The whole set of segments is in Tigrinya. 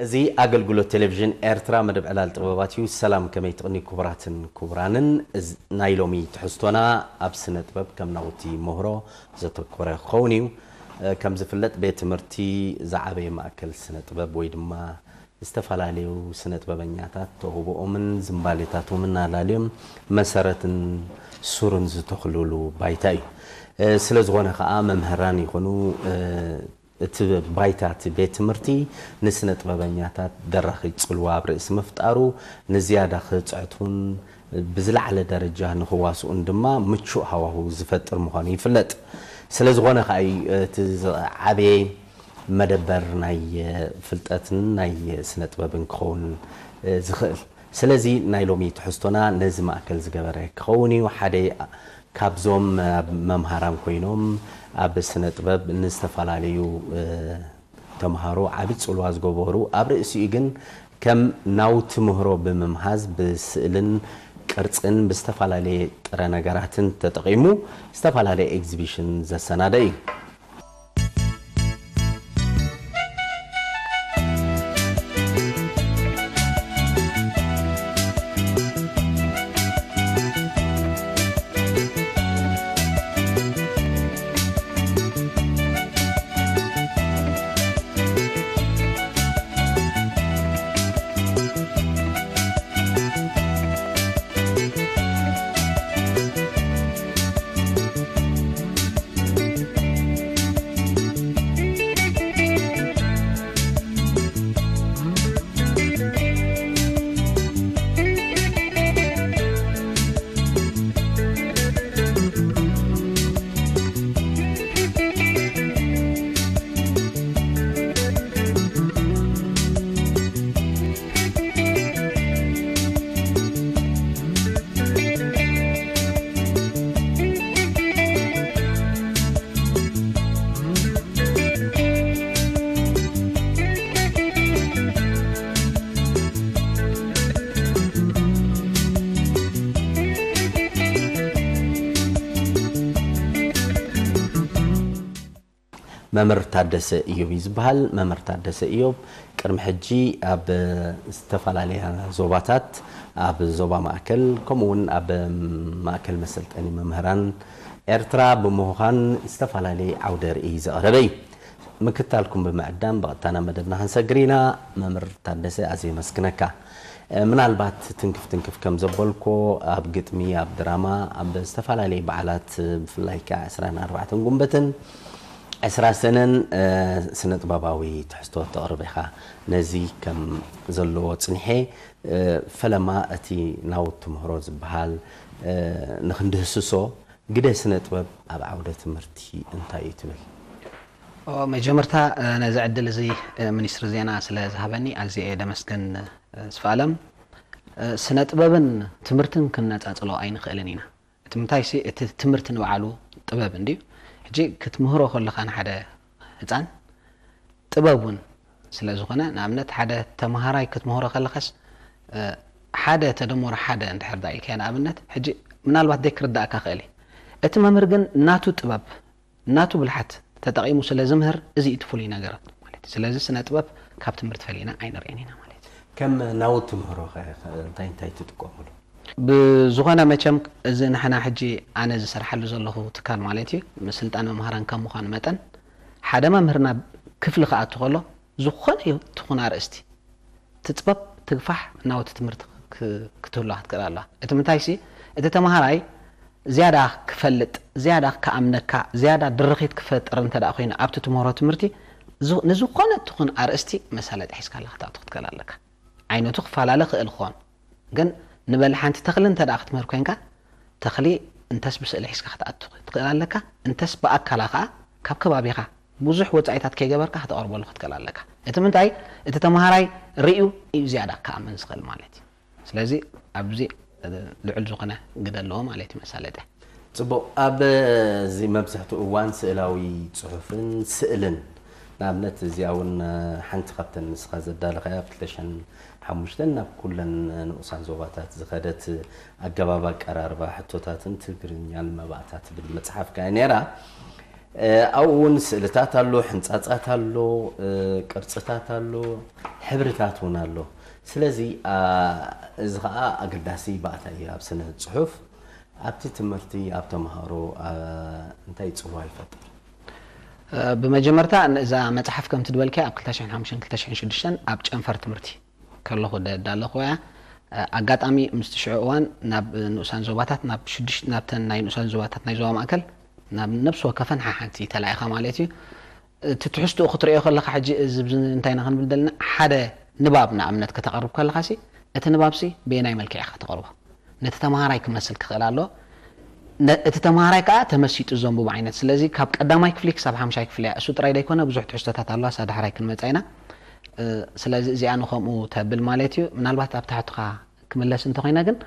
እዚ ኣገልግሎት ቴሌቪዥን ኤርትራ መደብ ዕላል ጥበባት እዩ። ሰላም፣ ከመይ ትቕኒ ክቡራትን ክቡራንን። እዚ ናይ ሎሚ ትሕዝቶና ኣብ ስነ ጥበብ ከም ናውቲ ምህሮ ዘተኮረ ክኸውን እዩ። እ፣ ከም ዝፍለጥ ቤት ትምህርቲ ዝዓበየ ማእከል ስነ ጥበብ ወይ ድማ ዝተፈላለዩ ስነ ጥበበኛታት ተውህቦኦምን ዝንባሌታቶምን ኣላልዮም መሰረትን ሱርን ዝተኽልሉ ባይታ እዩ። እ፣ ስለ ዝኾነ ኸኣ መምህራን ይኹኑ፣ እ፣ እቲ ባይታ እቲ ቤት ትምህርቲ ንስነ ጥበበኛታት ደራኺ ጽልዋ ኣብ ርእሲ ምፍጣሩ ንዝያዳ ክጽዕቱን ብዝለዓለ ደረጃ ንኽዋስኡን ድማ ምቹእ ሃዋሁ ዝፈጥር ምዃኑ ይፍለጥ። ስለ ዝኾነ ከኣ እዩ እቲ ዝዓበየ መደበር ናይ ፍልጠትን ናይ ስነ ጥበብን ክኸውን ዝኽእል። ስለዚ ናይ ሎሚ ትሕዝቶና ነዚ ማእከል ዝገበረ ክኸውን እዩ። ሓደ ካብዞም ኣብ መምሃራን ኮይኖም ኣብ ስነ ጥበብ ንዝተፈላለዩ፣ እ፣ ተምሃሮ ዓቢ ጽልዋ ዝገበሩ ኣብ ርእሲኡ ግን ከም ናውቲ ምህሮ ብምምሃዝ ብስእልን ቅርጽን ብዝተፈላለየ ጥረ ነገራትን ተጠቒሙ ዝተፈላለየ ኤግዚቢሽን ዘሰናደ እዩ። መምህር ታደሰ እዮብ እዩ ዝበሃል። መምህር ታደሰ እዮብ ቅድሚ ሕጂ ኣብ ዝተፈላለያ ዞባታት፣ ኣብ ዞባ ማእከል፣ ከምኡ እውን ኣብ ማእከል መሰልጠኒ መምህራን ኤርትራ ብምዃን ዝተፈላለየ ዓውደ ርእይ ዘቕረበ እዩ። ምክታልኩም ብምዕዳም ብቐጥታ ናብ መደብና ክንሰግር ኢና። መምህር ታደሰ፣ ኣዝየ የመስግነካ። እ፣ ምናልባት ትንክፍ ትንክፍ ከም ዘበልኮ፣ ኣብ ግጥሚ፣ ኣብ ድራማ፣ ኣብ ዝተፈላለየ በዓላት፣ ብፍላይ ከኣ ዕስራን ኣርባዕተን ጉንበትን ዕስራ ሰነን፣ እ፣ ስነ ጥበባዊ ትሕዝቶ ተቕርብ ኢኻ። ነዚ ከም ዘለዎ ጽኒሐ፣ እ፣ ፈለማ እቲ ናውቲ ምህሮ ዝበሃል፣ እ፣ ንኽንድህስሶ፣ ግደ ስነ ጥበብ ኣብ ዓውደ ትምህርቲ እንታይ እዩ ትብል? ኦ፣ መጀመርታ፣ እ፣ ነዚ ዕድል እዚ፣ እ፣ ሚኒስትሪ ዜና ስለ ዝሃበኒ ኣዝየ እየ ደመስግን፣ እ፣ ስፍኣለም። እ፣ ስነ ጥበብን ትምህርትን ክነጻጽሎ ኣይንኽእልን ኢና። እቲ ምንታይሲ፣ እቲ ትምህርቲ ንባዕሉ ጥበብ እንድዩ። ሕጂ ክትምህሮ ከለኻ ንሓደ ህጻን ጥበብ እውን ስለ ዝኾነ፣ ንኣብነት ሓደ ተምሃራይ ክትምህሮ ከለኻስ፣ እ፣ ሓደ ተደመሮ ሓደ እንድሕር ደኣ ኢልካዮ ንኣብነት፣ ሕጂ ምናልባት ዘይክርዳእካ ክእል እዩ። እቲ መምህር ግን ናቱ ጥበብ፣ ናቱ ብልሓት ተጠቒሙ ስለ ዝምህር፣ እዚ እዩ እቲ ፍሉይ ነገር ማለት እዩ። ስለዚ ስነ ጥበብ ካብ ትምህርቲ ፈሊና ኣይንርእን ኢና ማለት እዩ። ከም ናውቲ ምህሮ ኸ እንታይ እንታይ ትጥቀሙሉ? ብዝኾነ መቸም እዚ ንሕና ሕጂ ኣነ ዝሰርሓሉ ዘለኹ ትካል ማለት እዩ፣ ምስልጣን መምሃራን ከም ምዃኑ መጠን፣ ሓደ መምህር ናብ ክፍሊ ክኣቱ ከሎ፣ ዝኾነ ይኹን ኣርእስቲ ትጽበብ ትግፋሕ ናውቲ ትምህርቲ ክ-፣ ክትህሉ ክትክእል ኣለዋ። እቲ ምንታይሲ፣ እቲ ተምሃራይ ዝያዳ ክፈልጥ፣ ዝያዳ ክኣምነካ፣ ዝያዳ ድርኺት ክፈጥር እንተ ደኣ ኮይኑ ኣብቲ ትምህሮ ትምህርቲ፣ ዝ-፣ ንዝኾነ ትኹን ኣርእስቲ መሳለጢ ሒዝካላ ክትኣቱ ክትክእል ኣለካ። ዓይነቱ ክፈላለ ክእል ክኾን፣ ግን ንበል ሓንቲ ተኽሊ እንተ ደኣ ክትምህር ኮይንካ፣ ተኽሊ እንተስ ብስእሊ ሒዝካ ክትኣቱ ክትክእል ኣለካ፣ እንተስ ብኣካላ ከኣ ካብ ከባቢኻ ብዙሕ ወጻኢታት ከይገበርካ ከተቕርበሉ ክትክእል ኣለካ። እቲ ምንታይ፣ እቲ ተምሃራይ ርእዩ እዩ ዝያዳ ክኣምን ዝኽእል ማለት እዩ። ስለዚ ኣብዚ ልዑል ዝኾነ ግደ ኣለዎ ማለት እዩ መሳለጥያ። ጽቡቕ። ኣብ እዚ መብዛሕትኡ እዋን ስእላዊ ጽሑፍን ስእልን፣ ንኣብነት እዚኣ እውን ሓንቲ ካብተን ንስኻ ዘዳለኻያ ኣብ ክልተ ሽሕን ሓሙሽተን ናብ ኩለን ንኡሳን ዞባታት ዝኸደት ኣገባብ ኣቀራርባ ሕቶታትን ትግርኛን መባእታ ትብል መጽሓፍካ እያ ነይራ። ኣብኡ እውን ስእልታት ኣሎ፣ ሕንፃፃት ኣሎ፣ ቅርፅታት ኣሎ፣ ሕብርታት እውን ኣሎ። ስለዚ እዚ ከዓ ኣገዳሲ ባእታ እዩ ኣብ ስነ ፅሑፍ። ኣብቲ ትምህርቲ ኣብ ተምሃሮ እንታይ ፅልዋ ይፈጥር? ብመጀመርታ እዛ መፅሓፍ ከምቲ ዝበልካያ ኣብ ክልተ ሽሕን ሓሙሽተን ክልተ ሽሕን ሽዱሽተን ኣብ ጨንፈር ትምህርቲ ከለኹ ደዳለኹ እያ። ኣጋጣሚ ምስቲ ሽዑ እዋን ናብ ንኡሳን ዞባታት ናብ ሽዱሽተ ናብተን ናይ ንኡሳን ዞባታት ናይ ዞባ ማእከል ናብ ነብሲ ወከፈን ሓሓንቲ ተላኢኻ ማለት እዩ። እቲ ትሕዝትኡ ክትርእዮ ከለኻ ሕጂ እዚ እንታይ ኢና ክንብል ዘለና ሓደ ንባብ ንኣብነት ከተቕርብ ከለኻ ሲ እቲ ንባብ ሲ ብየናይ መልክዕ ኢኻ ከተቕርቦ? ነቲ ተምሃራይ ክመስል ክኽእል ኣለዎ። እቲ ተምሃራይ ከዓ ተመሲጡ ዘንብቦ ዓይነት። ስለዚ ካብ ቀዳማይ ክፍሊ ክሳብ ሓምሻይ ክፍሊ እያ። እሱ ጥራይ ደይኮነ ብዙሕ ትሕዝቶታት ኣለዋ፣ እሳ ዳሕራይ ክንመፃ ኢና። ስለዚ እዚኣ ንከምኡ ተብል ማለት እዩ። ምናልባት ኣብ ታሕትኻ ክምለስ እንተኮይነ ግን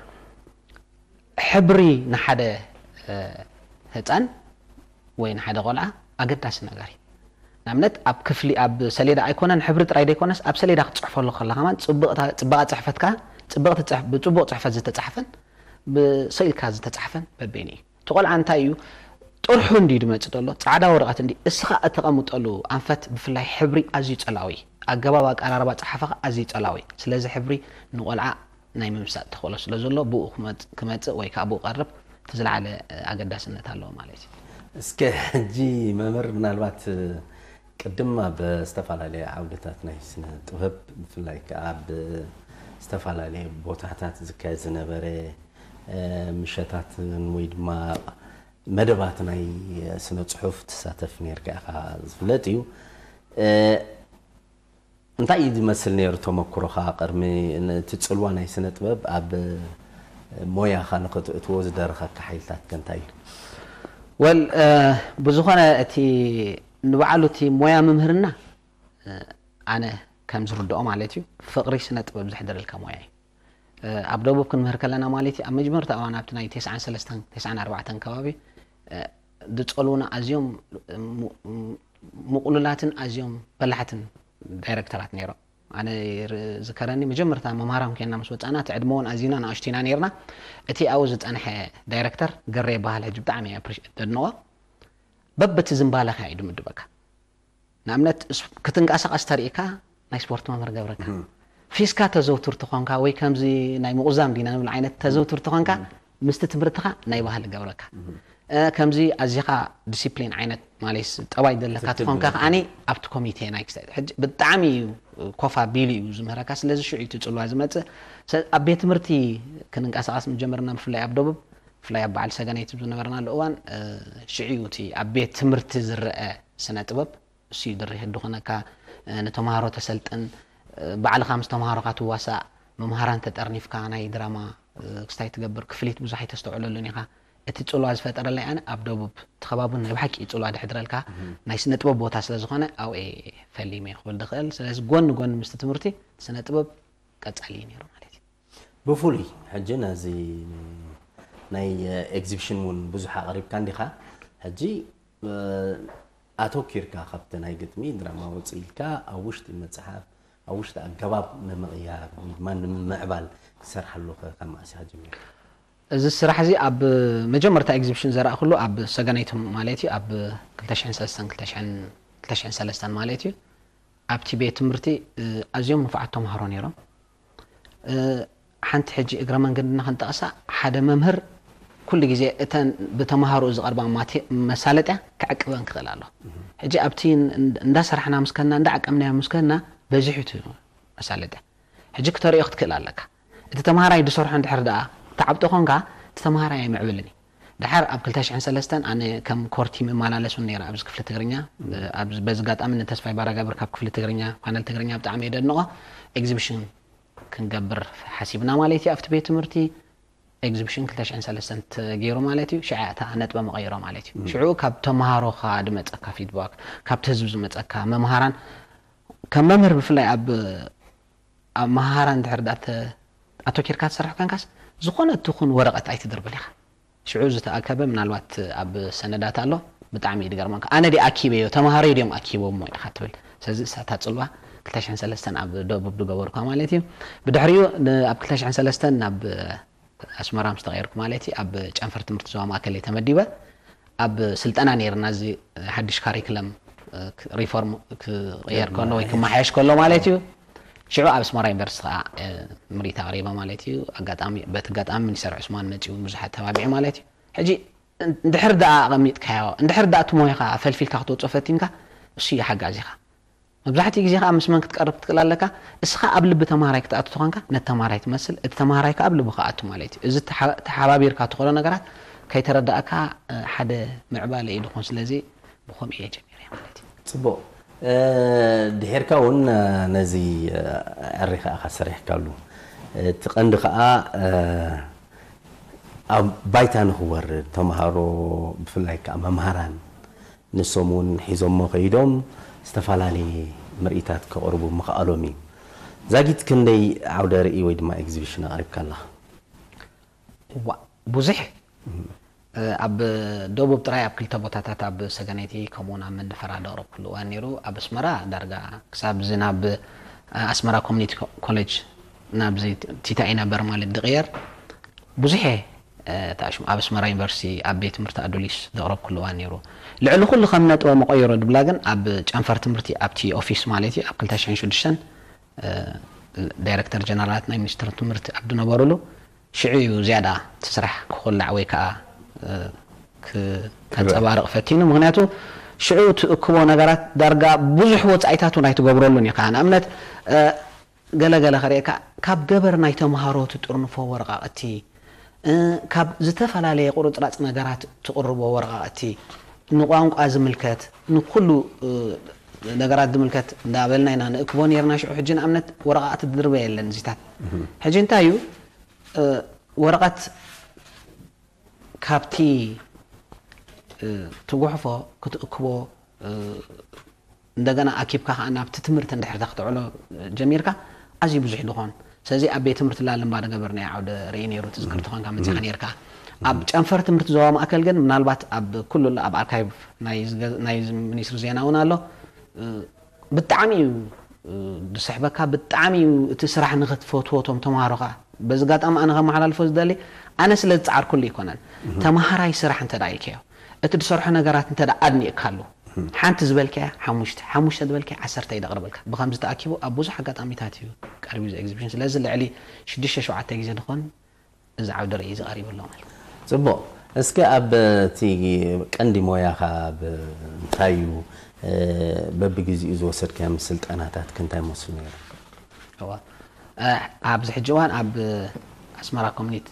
ሕብሪ ንሓደ ህፃን ወይ ንሓደ ቆልዓ ኣገዳሲ ነገር እዩ። ንኣብነት ኣብ ክፍሊ ኣብ ሰሌዳ ኣይኮነን ሕብሪ ጥራይ ደይኮነስ ኣብ ሰሌዳ ክትፅሕፈሉ ከለካ ማን ፅባቐ ፅሕፈትካ ብፅቡቕ ፅሕፈት ዝተፃሕፈን ብስእልካ ዝተፃሕፈን በበይኑ እዩ። እቲ ቆልዓ እንታይ እዩ ጥርሑ እንዲ ድመፅእ ዘሎ ፃዕዳ ወረቐት እንዲ እስኻ እተቐምጠሉ ኣንፈት ብፍላይ ሕብሪ ኣዝዩ ፀላዊ ኣገባብ ኣቀራርባ ፀሓፈኻ ኣዝዩ ፀላዊ። ስለዚ ሕብሪ ንቆልዓ ናይ ምምሳጥ ተኽእሎ ስለ ዘሎ ብኡ ክመፅእ ወይ ከዓ ብኡ ቀርብ እቲ ዝለዓለ ኣገዳስነት ኣለዎ ማለት እዩ። እስከ ሕጂ መምህር ምናልባት ቅድም ኣብ ዝተፈላለየ ዓውድታት ናይ ስነ ጥበብ ብፍላይ ከዓ ኣብ ዝተፈላለየ ቦታታት ዝካየድ ዝነበረ ምሸታትን ወይ ድማ መደባት ናይ ስነ ፅሑፍ ትሳተፍ ነርካ ኢኻ ዝፍለጥ እዩ። እንታይ እዩ ዝመስል ነይሩ ተመክሮኻ ቅድሚ እቲ ፅልዋ ናይ ስነ ጥበብ ኣብ ሞያኻ ንክትእትዎ ዝደረኸካ ሓይልታት ከ እንታይ እዩ? ወል ብዝኾነ እቲ ንባዕሉ እቲ ሞያ ምምህርና ኣነ ከም ዝርድኦ ማለት እዩ ፍቕሪ ስነ ጥበብ ዘሕደረልካ ሞያ እዩ። ኣብ ደቡብ ክንምህር ከለና ማለት እዩ ኣብ መጀመርታ እዋን ኣብቲ ናይ ተስዓን ሰለስተን ተስዓን ኣርባዕተን ከባቢ ዝፀልውና ኣዝዮም ምቁሉላትን ኣዝዮም በላሕትን ዳይረክተራት ነይሮም። ኣነ ዝከረኒ መጀመርታ መምሃራም ኮይና ምስ ወፃና እቲ ዕድመ እውን ኣዝና ንኣሽቱ ኢና ነይርና። እቲ ኣብኡ ዝፀንሐ ዳይረክተር ገሬ ይበሃል። ሕጂ ብጣዕሚ እየ ኣፕሪሽ ደድንቆ። በብቲ ዝንባለካ እዩ ድምድበካ። ንኣብነት ክትንቀሳቐስ ተሪእካ ናይ ስፖርት መምህር ገብረካ ፊስካ ተዘውትር ተኾንካ ወይ ከምዚ ናይ ምቑዛም ዲና ንብል ዓይነት ተዘውትር ተኾንካ ምስቲ ትምህርትኻ ናይ ባህሊ ገብረካ ከምዚ ኣዚኻ ዲሲፕሊን ዓይነት ማለት ጠባይ ዘለካ ተኾንካ ከዓኒ ኣብቲ ኮሚቴ ናይ ክስታይ ሕጂ ብጣዕሚ እዩ ኮፋ ቢሉ እዩ ዝምህረካ። ስለዚ ሽዑ እዩ እቲ ፅልዋ ዝመፅእ። ኣብ ቤት ትምህርቲ ክንንቀሳቐስ ምጀመርና ብፍላይ ኣብ ደቡብ ብፍላይ ኣብ በዓል ሰገነይቲ ዝነበርናሉ እዋን ሽዑ እዩ እቲ ኣብ ቤት ትምህርቲ ዝረአ ስነ ጥበብ እሱ እዩ ድሪህ ድኾነካ ንተምሃሮ ተሰልጥን ባዕልኻ ምስ ተምሃሮኻ ትዋሳእ መምሃራን ተጠርኒፍካ ናይ ድራማ ክስታይ ትገብር ክፍሊት ብዙሕ ኣይተስተውዕለሉን ኢኻ። እቲ ፅልዋ ዝፈጠረለይ ኣነ ኣብ ደቡብ እቲ ከባቢ ናይ ብሓቂ እዩ ፅልዋ ድሕድረልካ ናይ ስነ ጥበብ ቦታ ስለ ዝኾነ ኣብኡ እየ ፈሊመ ክብል ድኽእል። ስለዚ ጎኒ ጎኒ ምስቲ ትምህርቲ ስነ ጥበብ ቀፃሊ እዩ ነይሩ ማለት እዩ። ብፍሉይ ሕጂ ነዚ ናይ ኤግዚቢሽን እውን ብዙሕ ኣቕሪብካ እንዲኻ። ሕጂ ኣተኪርካ ካብቲ ናይ ግጥሚ ድራማ ውፅእ ኢልካ ኣብ ውሽጢ መፅሓፍ ኣብ ውሽጢ ኣገባብ ንምቕያር ወይ ድማ ንምምዕባል ትሰርሓሉ ከ ካብ መዓስ ኢኻ ጀሚርካ? እዚ ስራሕ እዚ ኣብ መጀመርታ ኤግዚቢሽን ዘረእክሉ ኣብ ሰገነይቲ ማለት እዩ ኣብ ክልተ ሽሕን ሰለስተን ክልተ ሽሕን ሰለስተን ማለት እዩ ኣብቲ ቤት ትምህርቲ ኣዝዮም ንፉዓት ተምሃሮ ነይሮም። ሓንቲ ሕጂ እግረ መንገድና ክንጠቕሳ ሓደ መምህር ኩሉ ግዜ እተን ብተምሃሮ ዝቐርባ ማቴ መሳለጥያ ክዕቅበን ክኽእል ኣሎ። ሕጂ ኣብቲ እንዳሰራሕና ምስ ከና እንዳዓቀምናዮ ምስ ከና በዚሑ እቲ መሳለጥያ ሕጂ ክተርእዮ ክትክእል ኣለካ። እቲ ተምሃራይ ዝሰርሖ እንድሕር ደኣ ተዓብጦ ኮንካ እቲ ተምሃራይ ኣይምዕብልን እዩ። ድሓር ኣብ ክልተ ሽሕን ሰለስተን ኣነ ከም ኮር ቲም እመላለስ እውን ነይረ ኣብዚ ክፍሊ ትግርኛ። በዚ ኣጋጣሚ ንተስፋይ ባራጋብር ካብ ክፍሊ ትግርኛ ፓነል ትግርኛ ብጣዕሚ እየ ደድንቖ። ኤግዚቢሽን ክንገብር ሓሲብና ማለት እዩ ኣብቲ ቤት ትምህርቲ ኤግዚቢሽን ክልተ ሽሕን ሰለስተን ተገይሩ ማለት እዩ። ሽዓ እታ ነጥበ መቐይሮ ማለት እዩ። ሽዑ ካብ ተምሃሮ ከዓ ድመፀካ ፊድባክ ካብቲ ህዝቢ ዝመፀካ መምሃራን ከም መምህር ብፍላይ ኣብ ኣብ መሃራ እንድሕር ዳ ኣተኪርካ ትሰርሕ ኮንካስ ዝኾነ ትኹን ወረቐት ኣይትድርብል ኢኻ። ሽዑ ዝተኣከበ ምናልባት ኣብ ሰነዳት ኣሎ ብጣዕሚ እዩ ድገርመካ። ኣነ ድየ ኣኪበዮ ተምሃሮይ ድዮም ኣኪቦሞ ኢኻ ትብል። ስለዚ እሳታ ፅልዋ ክልተ ሽሕን ሰለስተን ኣብ ደቡብ ድገበርኳ ማለት እዩ። ብድሕሪኡ ኣብ ክልተ ሽሕን ሰለስተን ናብ ኣስመራ ምስ ተቐየርኩ ማለት እዩ ኣብ ጨንፈር ትምህርቲ ዞባ ማእከል እየ ተመዲበ። ኣብ ስልጠና ነይርና፣ እዚ ሓድሽ ካሪክለም ሪፎርም ክቕየር ከሎ ወይ ክመሓየሽ ከሎ ማለት እዩ። ሽዑ ኣብ ኣስመራ ዩኒቨርሲቲ ከዓ ምርኢት ኣቕሪበ ማለት እዩ። ኣጋጣሚ በቲ ኣጋጣሚ ሚኒስተር ዑስማን መፂኡ ብዙሓት ተባቢዑ ማለት እዩ። ሕጂ እንድሕር ደኣ ኣቐሚጥካዮ፣ እንድሕር ደኣ እቲ ሞያኻ ፈልፊልካ ክትወፅኦ ፈቲንካ፣ እሱ እዩ ሓጋዚኻ። መብዛሕትኡ ግዜ ከዓ ምስ መን ክትቀርብ ክትክእል ኣለካ? እስኻ ኣብ ልቢ ተማሃራይ ክትኣቱ ተኾንካ፣ ነቲ ተማሃራይ ትመስል፣ እቲ ተማሃራይ ከዓ ኣብ ልቢ ክኣቱ ማለት እዩ። እዚ ተሓ- ተሓባቢርካ ትኸዶ ነገራት ከይተረዳእካ፣ እ፣ ሓደ ምዕባለ እዩ ዝኾን። ስለዚ ብኸምኡ እየ ጀሚረ ማለት እዩ። ፅቡቕ። እ፣ ድሒርካ እውን፣ እ፣ ነዚ፣ እ፣ ዕሪ ከዓ ሰሪሕካሉ። እቲ ቀንዲ ከዓ፣ እ፣ ኣብ ባይታ ንክወርድ ተምሃሮ፣ ብፍላይ ከዓ መምሃራን ንሶም እውን ሒዞሞ ከይዶም ዝተፈላለየ ምርኢታት ከቕርቡ ምኽኣሎም እዩ። ዛጊት ክንደይ ዓውደ ርእይ ወይ ድማ ኤግዚቢሽን ኣቕሪብካ ኣለኻ? ዋ ብዙሕ፣ እ፣ ኣብ ደቡብ ጥራይ ኣብ ክልተ ቦታታት፣ ኣብ ሰገነይቲ ከምኡውን ኣብ መንደፈራ ዘቕረብኩሉ እዋን ነይሩ። ኣብ ኣስመራ ዳርጋ ክሳብ እዚ ናብ፣ እ፣ ኣስመራ ኮሚኒቲ ኮ- ኮሌጅ ናብዚ ቲታኢ ነበር ማለት ድቕየር ብዙሕ እየ፣ እ፣ ተኣሽሙ ኣብ ኣስመራ ዩኒቨርሲቲ ኣብ ቤት ትምህርቲ ኣዱሊስ ዘቕረብኩሉ እዋን ነይሩ። ልዕሊ ኩሉ ከም ነጥበ መቐየሮ ድብላ ግን ኣብ ጨንፈር ትምህርቲ ኣብቲ ኦፊስ ማለት እዩ ኣብ ክልተ ሽሕን ሽዱሽተን እ፣ ዳይረክተር ጀነራላት ናይ ሚኒስትሪ ትምህርቲ ኣብ ዝነበሩሉ ሽዑ እዩ ዝያዳ እቲ ስራሕ ክኹላዕ ወይ ከዓ፣ እ፣ ክ- ከንፀባርቕ ፈቲኑ። ምክንያቱ ሽዑ ትእክቦ ነገራት ዳርጋ ብዙሕ ወፃኢታት እውን ኣይትገብረሉን ኢኻ። ንኣብነት፣ እ፣ ገለ ገለ ከርእየካ፣ ካብ ገበር ናይ ተምሃሮ ትጥርንፎ ወረቃቕቲ፣ እ፣ ካብ ዝተፈላለየ ቁርፅራፅ ነገራት ትቕርቦ ወረቃቕቲ፣ ንቋንቋ ዝምልከት፣ ንኩሉ፣ እ፣ ነገራት ዝምልከት እንዳበልና ኢና ንእክቦ ነይርና። ሽዑ ሕጂ ንኣብነት ወረቃቕቲ ድርበ የለን እዚታት። ሕጂ እንታይ እዩ፣ እ፣ ወረቐት ካብቲ፣ እ፣ ትጉሕፎ ክትእክቦ፣ እ፣ እንደገና ኣኪብካ ከዓ ናብቲ ትምህርቲ እንድሕር ከተዕሎ ጀሚርካ ኣዝዩ ብዙሕ ድኾን። ስለዚ ኣብ ቤት ትምህርቲ ላልምባ ዝገበርናዮ ዓውደ ርእይ ነይሩ፣ ትዝክር ተኾንካ መፂኻ ነይርካ። ኣብ ጨንፈር ትምህርቲ ዞባ ማእከል ግን ምናልባት ኣብ ኩሉ ኣሎ፣ ኣብ ኣርካይቭ ናይ ዝገ- ናይ ሚኒስትሪ ዜና እውን ኣሎ። እ፣ ብጣዕሚ እዩ፣ እ፣ ዝስሕበካ፣ ብጣዕሚ እዩ እቲ ስራሕ ንኽትፈትዎ እቶም ተምሃሮኻ። በዚ ኣጋጣሚ ኣነ ከመሓላልፎ ዝደሊ፣ ኣነ ስለ ዝፀዓርኩሉ ኣይኮነን። ተምሃራይ ስራሕ እንተ ደኣ ኢልካዮ፣ እቲ ዝሰርሖ ነገራት እንተ ደኣ ኣድኒቕካሉ፣ ሓንቲ ዝበልካያ ሓሙሽተ፣ ሓሙሽተ ዝበልካያ ዓሰርተ እዩ ዘቕርበልካ። ብኸምዚ ተኣኪቡ ኣብ ብዙሕ ኣጋጣሚታት እዩ ቀሪቡ እዚ ኤግዚቢሽን። ስለዚ ልዕሊ ሽዱሽተ ሸውዓተ ግዜ ዝኾን እዚ ዓውደ ርእይ እዚ ቀሪቡ ኣሎ ማለት እዩ። ፅቡቕ። እስከ ኣብ እቲ ቀንዲ ሞያኻ ብ- እንታይ እዩ፣ እ፣ በብግዜኡ ዝወሰድካዮም ስልጠናታት ከ እንታይ መስሉ ነይሩ? እዋ፣ እ፣ ኣብዚ ሕጂ እዋን ኣብ ኣስመራ ኮሚኒቲ፣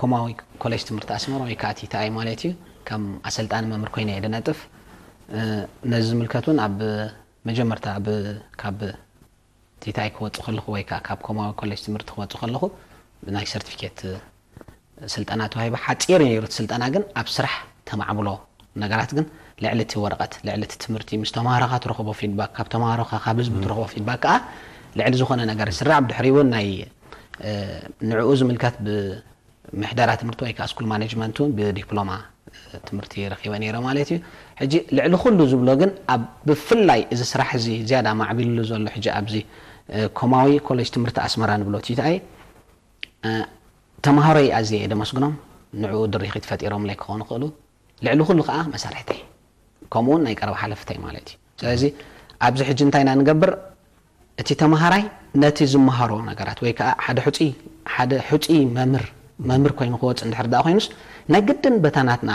ኮማዊ ኮሌጅ ትምህርቲ ኣስመራ ወይ ከዓ ቲታኣይ ማለት እዩ፣ ከም ኣሰልጣኒ መምህር ኮይነ እየ ዝነጥፍ። እ፣ ነዚ ዝምልከት እውን ኣብ መጀመርታ ኣብ ካብ ቲታይ ክወፅእ ከለኹ ወይ ከዓ ካብ ኮማዊ ኮሌጅ ትምህርቲ ክወፅእ ከለኹ ብናይ ሰርቲፊኬት ስልጠና ተዋሂበ። ሓፂር ነይሩ እቲ ስልጠና፣ ግን ኣብ ስራሕ ተማዕብሎ ነገራት ግን ልዕሊ እቲ ወረቐት፣ ልዕሊ እቲ ትምህርቲ፣ ምስ ተምሃሮኻ ትረኽቦ ፊድባክ፣ ካብ ተምሃሮኻ፣ ካብ ህዝቢ ትረኽቦ ፊድባክ ከዓ ልዕሊ ዝኾነ ነገር ይስራዕ። ብድሕሪኡ እውን ናይ፣ እ፣ ንዕኡ ዝምልከት ብ ምሕደራ ትምህርቲ ወይ ከዓ ስኩል ማኔጅመንት እውን ብዲፕሎማ ትምህርቲ ረኺበ ነይረ ማለት እዩ። ሕጂ ልዕሊ ኩሉ ዝብሎ ግን ኣብ ብፍላይ እዚ ስራሕ እዚ ዝያዳ ማዕቢልሉ ዘሎ ሕጂ ኣብዚ ኮማዊ ኮሌጅ ትምህርቲ ኣስመራ ንብሎ ቲታይ ተምሃሮይ ኣዝየ እየ ደመስግኖም። ንዕኡ ድሪኺት ፈጢሮምለይ ክኾኑ ክእሉ፣ ልዕሊ ኩሉ ከዓ መሳርሕተይ ከምኡውን ናይ ቀረባ ሓለፍተይ ማለት እዩ። ስለዚ ኣብዚ ሕጂ እንታይ ኢና ንገብር? እቲ ተምሃራይ ነቲ ዝመሃሮ ነገራት ወይ ከዓ ሓደ ሕፁይ ሓደ ሕፁይ መምህር መምህር ኮይኑ ክወፅእ እንድሕር ደኣ ኮይኑስ ናይ ግድን በታ ናትና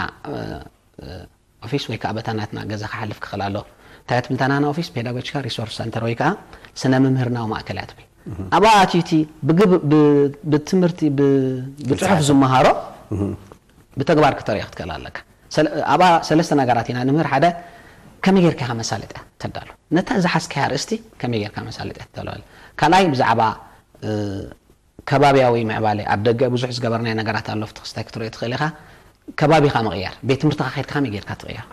ኦፊስ ወይ ከዓ በታ ናትና ገዛ ክሓልፍ ክኽእል ኣሎ። እንታይ ትብል እታ ናና ኦፊስ? ፔዳጎጂካል ሪሶርስ ሰንተር ወይ ከዓ ስነ ምምህርናዊ ማእከል እያ ትብል። ኣብኣ ኣትዩ እቲ ብግብ- ብ- ብትምህርቲ ብ- ብፅሑፍ ዝመሃሮ ብተግባር ክተርእዮ ክትክእል ኣለካ። ሰለ- ኣብኣ ሰለስተ ነገራት ኢና ንምህር። ሓደ ከመይ ጌርካ ኢኻ መሳለጥያ ተዳሉ፣ ነታ ዝሓዝካያ ኣርእስቲ ከመይ ጌርካ መሳለጥያ ተዳሉ። ካልኣይ ብዛዕባ እ፣ ከባብያዊ ምዕባለ ኣብ ደገ ብዙሕ ዝገበርናዮ ነገራት ኣሎ። ኣብቲ ክስታይ ክትሪኦ ትኽእል ኢኻ። ከባቢኻ ምቕያር፣ ቤት ትምህርትኻ ከይድካ ከመይ ጌርካ ትቕየር።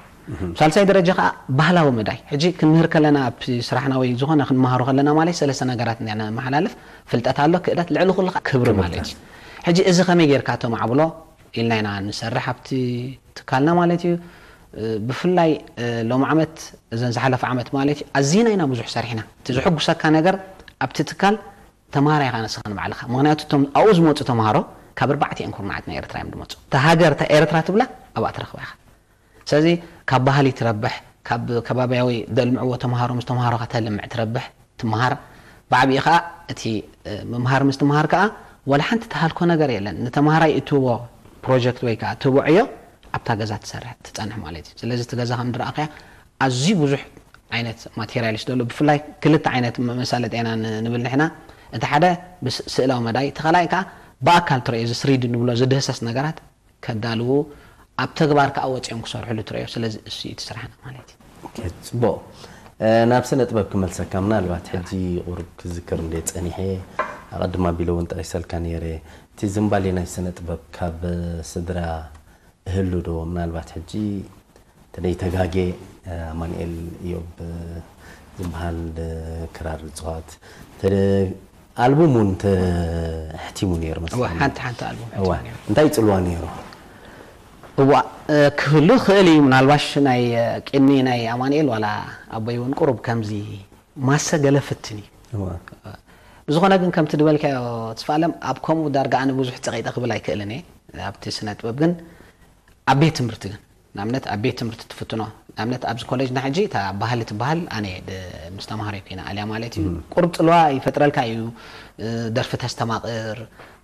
ሳልሳይ ደረጃ ከዓ ባህላዊ መዳይ። ሕጂ ክንምህር ከለና ኣብቲ ስራሕና ወይ ዝኾነ ክንመሃሮ ከለና ማለት ሰለስተ ነገራት ኢና ነመሓላልፍ። ፍልጠት ኣሎ፣ ክእለት፣ ልዕሊ ኩሉ ከዓ ክብሪ ማለት እዩ። ሕጂ እዚ ከመይ ጌርካ ተማዕብሎ ኢልና ኢና ንሰርሕ ኣብቲ ትካልና ማለት እዩ። እ፣ ብፍላይ እ፣ ሎም ዓመት እዘን ዝሓለፈ ዓመት ማለት እዩ ኣዚና ኢና ብዙሕ ሰሪሕና። እቲ ዝሕጉሰካ ነገር ኣብቲ ትካል ተምሃራይ ኢኻ ንስኻ ንባዕልኻ። ምኽንያቱ እቶም ኣብኡ ዝመፁ ተምሃሮ ካብ ኣርባዕቲኣን ኩርናዓት ናይ ኤርትራ እዮም ዝመፁ። እታ ሃገር እታ ኤርትራ ትብላ ኣብኣ ትረኽባ ኢኻ። ስለዚ ካብ ባህሊ ትረብሕ፣ ካብ ከባቢያዊ ደልምዕዎ ተምሃሮ ምስ ተምሃሮኻ ተልምዕ ትረብሕ፣ ትምሃር። ብዓብዪ ከዓ እቲ ምምሃር ምስ ትምሃር ከዓ ወላ ሓንቲ ትሃልኮ ነገር የለን። ንተምሃራይ እትህቦ ፕሮጀክት ወይ ከዓ እትህቦ ዕዮ ኣብታ ገዛ ትሰርሕ ትፀንሕ ማለት እዩ። ስለዚ እቲ ገዛ ከም ዝረኣኸያ ኣዝዩ ብዙሕ ዓይነት ማቴሪያል እዩ ዘሎ። ብፍላይ ክልተ ዓይነት መሳለጢ ኢና ንብል ንሕና። እቲ ሓደ ብስእላዊ መዳይ፣ እቲ ካልኣይ ከዓ ብኣካል ትረዮ፣ እዚ ስሪዲ ንብሎ ዝድህሰስ ነገራት ከዳልዉ፣ ኣብ ተግባር ከዓ ወፂኦም ክሰርሕሉ ትረዮ። ስለዚ እሱ እዩ እቲ ስራሕና ማለት እዩ። ጽቡቕ። ናብ ስነ ጥበብ ክመልሰካ፣ ምናልባት ሕጂ ቁሩብ ክዝክር እንደ ጸኒሐ፣ ኣቐድም ኣቢለ እውን ጠቂሰልካ ነይረ። እቲ ዝንባሌ ናይ ስነ ጥበብ ካብ ስድራ እህሉ ዶ? ምናልባት ሕጂ ተደይተጋጌ ኣማንኤል እዮብ ዝበሃል ክራር ዝፅዋት ኣልቡም እውን ተሕቲሙ ነይሩ መስለኒ። ሓንቲ ሓንቲ ኣልቡም እዋ እንታይ ይፅልዋ ነይሩ? እዋ ክህሉ ክእል እዩ። ምናልባሽ ናይ ቅድሚ ናይ ኣማንኤል ዋላ ኣቦይ እውን ቁሩብ ከምዚ ማሰ ገለ ፍትን እዩ። ብዝኾነ ግን ከምቲ ዝበልካዮ ትስፋለም ኣብ ከምኡ ዳርጋ ኣነ ብዙሕ ፀቂጠ ክብል ኣይክእልን እየ ኣብቲ ስነ ጥበብ። ግን ኣብ ቤት ትምህርቲ ግን ንኣብነት ኣብ ቤት ትምህርቲ ትፍትኖ ንኣብነት ኣብዚ ኮሌጅና ሕጂ እታ ባህሊ ትበሃል ኣነ ምስ ተምሃሮ ኮይና ኣልያ ማለት እዩ። ቁሩብ ፅልዋ ይፈጥረልካ እዩ። ደርፊ ተስተማቕር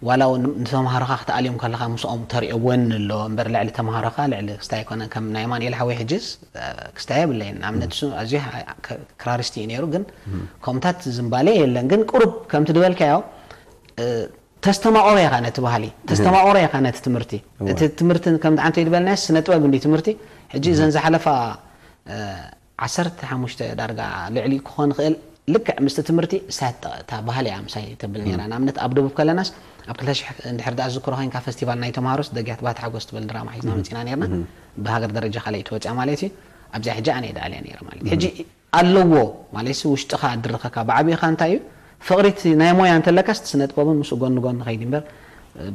ዋላ እውን ንተምሃሮኻ ክትኣልዮም ከለኻ ምስኦም ተሪኦ ወን ኣሎ እምበር ልዕሊ ተምሃሮኻ ልዕሊ ክስታይ ኣይኮነን። ከም ናይ ኣማንኤል ሓወይ ሕጂስ ክስታይ የብለይን። ንኣብነት እሱ ኣዝዩ ክራሪስቲ እዩ ነይሩ፣ ግን ከምታት ዝምባሌ የለን። ግን ቁሩብ ከምቲ ዝበልካዮ ተስተማቆሮ ኢኻ ነቲ ባህሊ ተስተማቆሮ ኢኻ ነቲ ትምህርቲ። እቲ ትምህርቲ ከምቲ ዓንተ ይድበልናዮ ስነ ጥበብ እንዲ ትምህርቲ ሕጂ እዘን ዝሓለፋ ዓሰርተ ሓሙሽተ ዳርጋ ልዕሊ ክኾን ይኽእል። ልክዕ ምስቲ ትምህርቲ ሳት እታ ባህሊ እያ ምሳይ ተብል ነይራ። ንኣብነት ኣብ ደቡብ ከለናስ ኣብ ክልተ ሽሕ እንድሕር ደኣ ዝዝክሮ ኮይንካ ፈስቲቫል ናይ ተምሃሮስ ደግያት ባት ሓጎስ ትብል ድራማ ሒዝና መፂና ነርና። ብሃገር ደረጃ ካልኣይ ትወፅያ ማለት እዩ። ኣብዚኣ ሕጂ ኣነ ደኣልያ ነይረ ማለት ሕጂ ኣለዎ ማለት ውሽጥኻ ድርኸካ ብዓብኻ እንታይ እዩ ፍቕሪት ናይ ሞያ እንተለካስ ስነ ጥበብን ምስ ጎን ጎን ኸይድ እምበር